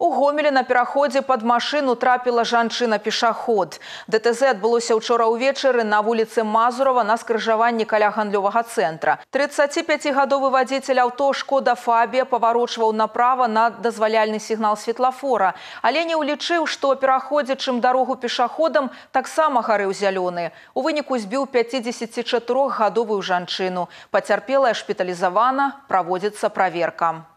У Гомелі на пераходзе пад машыну трапіла жанчына-пешаход. ДТЗ адбылося ўчора ўвечары на вуліцы Мазурова на скрыжаванні каля гандлёвага цэнтра. 35-гадовы вадзіцель аўто «Шкода Фабія» паварочваў направа на дазваляльны сігнал светлафора, але не ўлічыў, што пераходзячым дарогу пешаходам таксама гарэў зялёны. У выніку збіў 54-гадовую жанчыну. Пацярпелая шпіталізавана, праводзіцца праверка.